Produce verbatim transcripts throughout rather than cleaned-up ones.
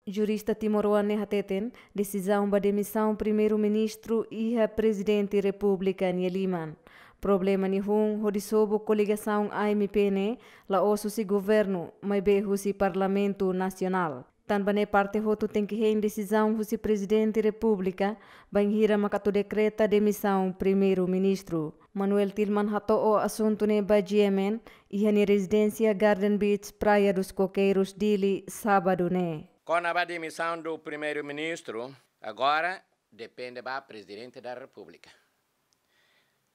Jurista timoroan ne'e hateten, desizaun ba demisaun Primeiru-Ministru iha Prezidente Repúblika nia liman. Problema nia hun hodi sobu koligasaun A M P ne'e la'ós husi governu, maibé husi Parlamentu Nasionál. Tanba ne'e parte hotu tenke hein desizaun husi Prezidente Repúblika, bainhira mak atu dekreta demisaun Primeiru-Ministru. Manuel Tilman hato'o asuntu ne'e ba G M N, iha nia rezidénsia Garden Beach, Praia dos Coqueiros, Dili, sábadu ne'e. Kona-ba demisaun do Primeiru-Ministru, agora depende ba Prezidente da Repúblika.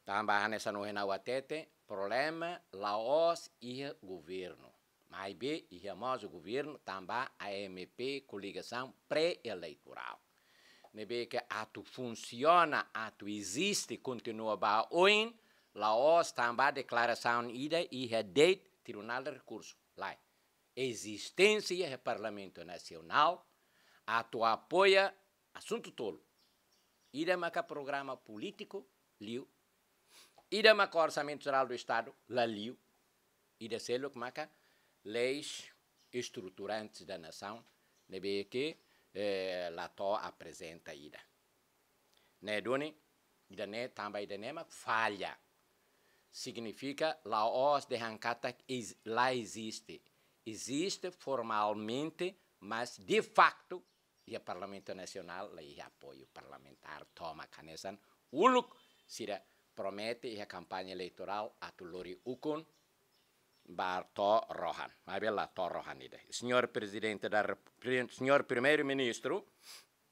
Tanba hanesan ohin ha'u hatete, problema la'ós iha governu. Maibé iha mós governu tanba A M P koligasaun pré-eleitorál. Ne'ebé ke atu funsiona, atu eziste, kontinua ba oin, la'ós tanba deklarasaun ida iha de'it Tribunál de Rekursu. Lae. Ezisténsia iha Parlamentu Nasionál, atu apoia asuntu tolu. Ida maka programa polítiku, liu. Ida maka Orsamentu Jerál do Estadu, la liu. Ida seluk maka leis estruturantes da nasaun, ne'ebé ke, eh, la to'o aprezenta ida. Ne'e duni, ida-ne'e, tanba ida-ne'e mak falla. Signifika la'ós dehan katak ez-, la eziste. Eziste formalmente, mas de facto iha Parlamentu Nasionál la iha apoiu parlamentár tomak hanesan uluk sira promete iha kampaña eleitorál atu lori ukun ba to'o rohan. Maibé la to'o rohan ida. Señór Prezidente da Rep-, Pri-, Señór Primeiru-Ministru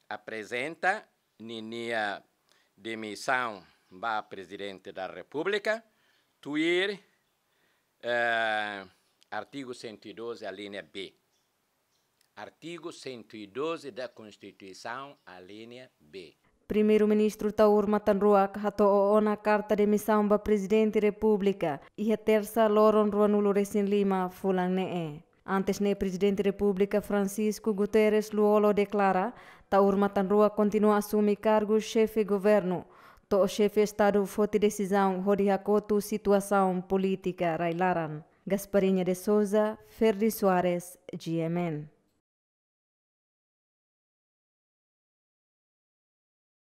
aprezenta ninia demisaun ba Prezidente da Repúblika, tuir, eh, artigu cento e doze, alínea B. Artigu cento e doze da Constituição, alínea B. Primeiru-Ministru Taur Matan Ruak hato'o ona karta demisaun ba Prezidente Repúblika, iha tersa loron ruanulu resin lima fulan ne'e. Antes ne'e Prezidente Repúblika Francisco Guterres Lú-Olo deklara, Taur Matan Ruak kontinua asume kargu xefe governu, to'o xefe Estadu foti desizaun hodi hakotu situasaun polítika rai-laran. Gasparinha de Souza, Ferdi Soares, G M N.